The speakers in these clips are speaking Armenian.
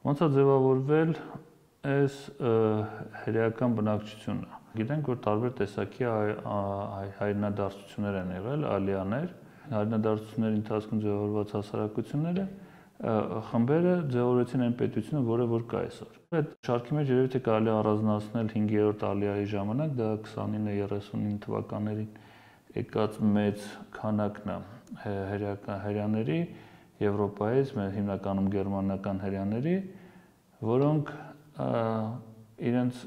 Ոնց է ձևավորվել այս հրեական բնակչությունը։ Գիտենք, որ տարբեր տեսակի հայրենադարձություններ են եղել, ալիաներ, հայրենադարձությունների ընթացքում ձևավորված հասարակությունները խմբերը ձևավորեցին այն պետությունը, որը որ կա այսօր։ Այդ շարքի մեջ երևի թե կարելի է առանձնացնել 5-րդ ալիայի ժամանակ, դա 29-39 թվականներին եկած մեծ քանակն է հրեաների Եվրոպայից, հիմնականում գերմանական հրեաների, որոնք իրենց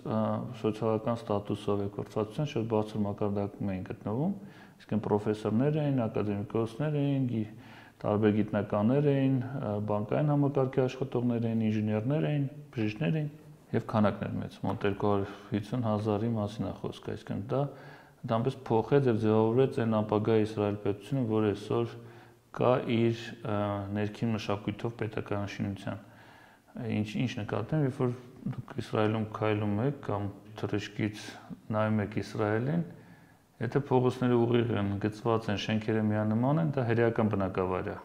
սոցիալական ստատուսով եւ կրթվածության շատ բարձր մակարդակում էին գտնվում, այսինքն պրոֆեսորներ էին, ակադեմիկոսներ էին, տարբեր գիտնականներ էին, բանկային համակարգի աշխատողներ էին, ինժեներներ էին, բժիշկներ էին եւ քանակներ մեծ, մոտ 250,000-ի մասին է խոսքը, այսինքն դա դամպես փոխեց եւ ձևավորեց այն ապագա Իսրայել պետությունը, որ այսօր կա իր ներքին մշակույթով պետականաշինության։ Ինչ նկատեմ, երբ որ դուք Իսրայելում քայլում եք կամ թռիչքից նայում եք Իսրայելին, եթե փողոցները ուղիղ են, գծված են, շենքերը միանման են, դա հրեական բնակավայր է։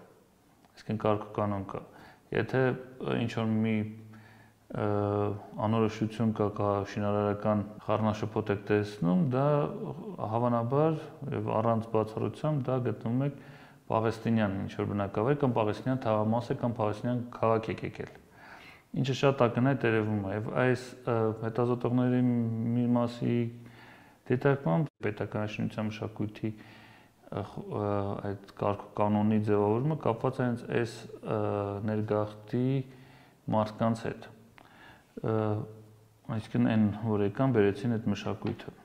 Այսինքն կարգ-կանոն կա։ Եթե ինչ-որ մի անորոշություն կա շինարարական խառնաշփոթ եք տեսնում, դա հավանաբար եւ առանց բացառությամբ դա գտնում եք Պաղեստինյան ինչ-որ բնակավայր կամ Պաղեստինյան թաղամաս է կամ Պաղեստինյան քաղաք եք եկել։ Ինչը շատ ակնհայտ երևում է եւ այս հետազոտողների մի մասի դիտարկմամբ պետականաշինության մշակույթի այդ կարգ-կանոնի ձևավորումը կապված է հենց այս ներգաղթի մարդկանց հետ։ Այսինքն այն, որ եկան բերեցին այդ մշակույթը։